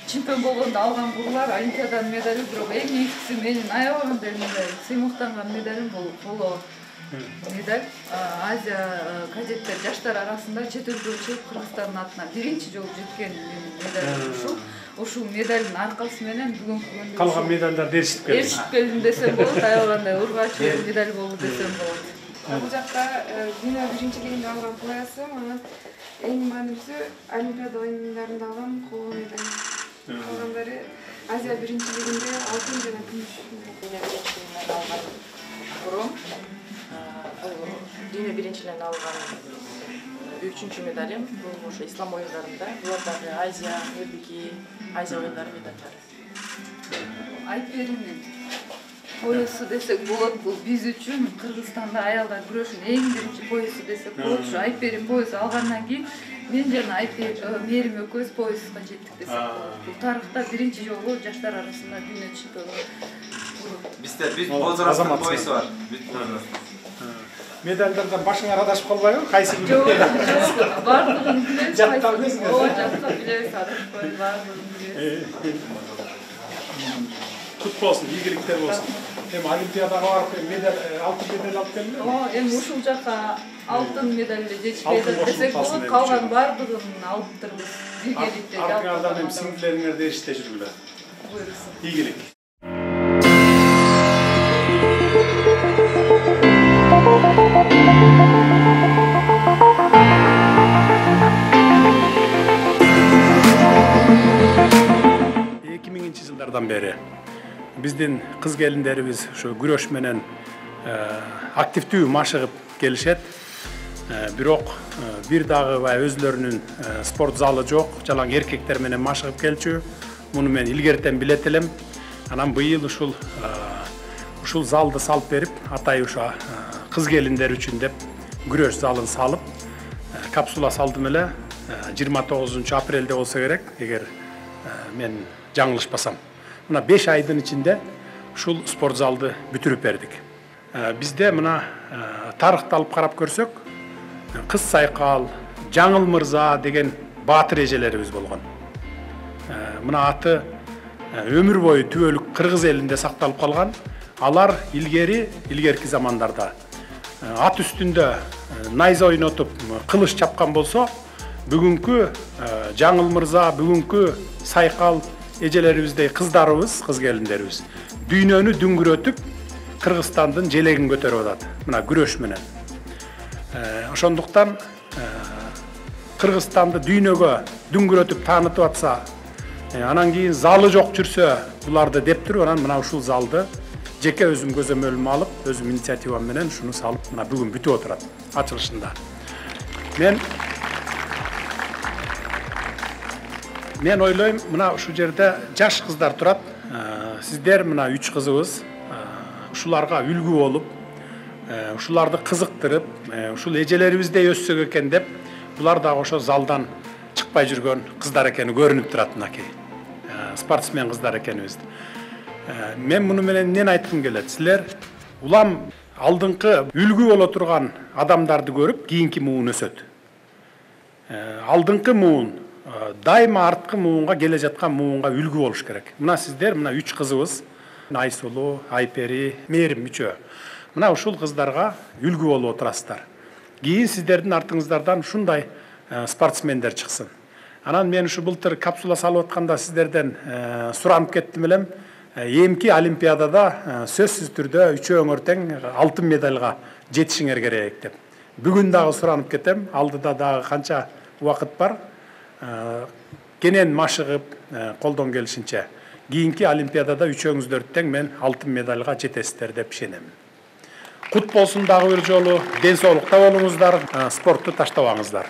чемпион болгондо алган кызлар олимпиаданын медали, бирок эң негизгиси менин аябаган эле сыймыктанган медалим бул коло медаль. Азия кадеттер жаштар арасында чет элге чыгып Кыргызстандын атынан биринчи жолу жеткен медаль ушул. Ушул медалдын аркасы менен бүгүнкү күндө калган медалдар эришип келдим десем болот, аябагандай ургач медаль болду десем болот. Бул жакта дүйнө биринчилигинде алган поясым, анан эң маанилүүсү Олимпиада оюндарында алган коло медаль. Калгандары Азия биринчилигинде алтын жана күмүш. Дүйнө биринчилигинен алган бурун, дүйнө биринчилигинен алган 3-чү медалим бул ошо ислам оюндарында, булардагы Азия, Элдики, Азия оюндары медальдары. Айперинин поясу десек болот, бул биз үчүн Кыргызстанда аялдар күрөшүнүн эң биринчи поясу десек болот. Ушу Айперин поясу алгандан кийин мен жана Мээрим экөөбүз пояска жеттик десек болот. Бул тарыхта биринчи жолу жаштар арасында дүйнө чемпиону. Биз возрасттын поясу бар. Медальдардан башыңар адашып калбайбы? Кайсы күн? Жок, бардыгын билебиз. Жаттап билесиңер. Ооба, жаттап билебиз, адашпай бардыгын билебиз. Кут болсун, ийгиликтер болсун. Эми олимпиадага барып медаль, алтын медаль алып келдиңби? Ооба, эми ушул жака алтын медаль жетишпейт десек болот, калган бардыгын алыптырбыз. Ийгиликтер. Артыңардан эми сиңдилериңерди эриштете жүргүлө. Буйруксун. Ийгилик. Жылдардан бери биздин кыз келиндерибиз ушу күрөш менен активдүү машыгып келишет. Бирок бир дагы өзлөрүнүн спорт залы жок, жалаң эркектер менен машыгып келчү. Муну мен илгертен билет элем. Анан быйыл ушул залды салып берип, атай ушу кыз келиндер үчүн деп күрөш залын салып, капсула салдым эле. 29 апрелде болсо керек, эгер мен жаңылышпасам. Мына 5 айдын ичинде ушул спорт залды бүтүрүп бердик. Бизде мына тарыхты алып карап көрсөк, Кыз Сайкал, Жаңыл Мырза деген баатыр эжелерибиз болгон. Мына аты өмүр бою түбөлүк кыргыз элинде сакталып калган. Алар илгерки замандарда ат үстүндө найза ойнотуп, кылыч чапкан болсо, бүгүнкү Жаңыл Мырза, бүгүнкү Сайкал эжелерибиздей кыздарыбыз, кыз келиндерибиз дүйнөнү дүңгүрөтүп, Кыргызстандын желегин көтөрүп атат. Мына күрөш менен. Ошондуктан Кыргызстанды дүйнөгө дүңгүрөтүп таанытып атса, анан кийин залы жок жүрсө, буларды деп туруп, анан мына ушул залды жеке өзүм көзөмөлүмө алып, өзүм инициативам менен ушуну салып, мына бүгүн бүтүп отурат ачылышында. Мен ойлойм, мына ушул жерде жаш кыздар турат. Сиздер мына 3 кызыбыз, ушуларга үлгү болуп, ушуларды кызыктырып, ушул эжелерибиздей өссөк экен деп, булар дагы ошо залдан чыкпай жүргөн кыздар экени көрүнүп турат мынакей. Спортсмен кыздар экенибиз. Мен муну менен эмнени айткым келет? Силер улам алдыңкы үлгү боло турган адамдарды көрүп, кийинки муун өсөт. Алдыңкы муун дайыма арткы муунга келе жаткан муунга үлгү болуш керек. Мына сиздер, мына 3 кызыбыз, Айсулу, Айпери, Мээрим үчөө. Мына ушул кыздарга үлгү болуп отурасыздар. Кийин сиздердин артыңыздардан ушундай спортсмендер чыксын. Анан мен ушу былтыр капсула салып атканда сиздерден суранып кеттим элем. Эмки олимпиадада сөзсүз түрдө үчөөңөр тең алтын медальга жетишиңер керек деп. Бүгүн дагы суранып кетем. Алдыда дагы канча убакыт бар. Кенен машыгып, колдон келишинче кийинки олимпиадада үчөөңүздөр тең мен алтын медальга жетесиздер деп ишенем. Кут болсун дагы бир жолу, ден соолукта болуңуздар, спортту таштабаңыздар.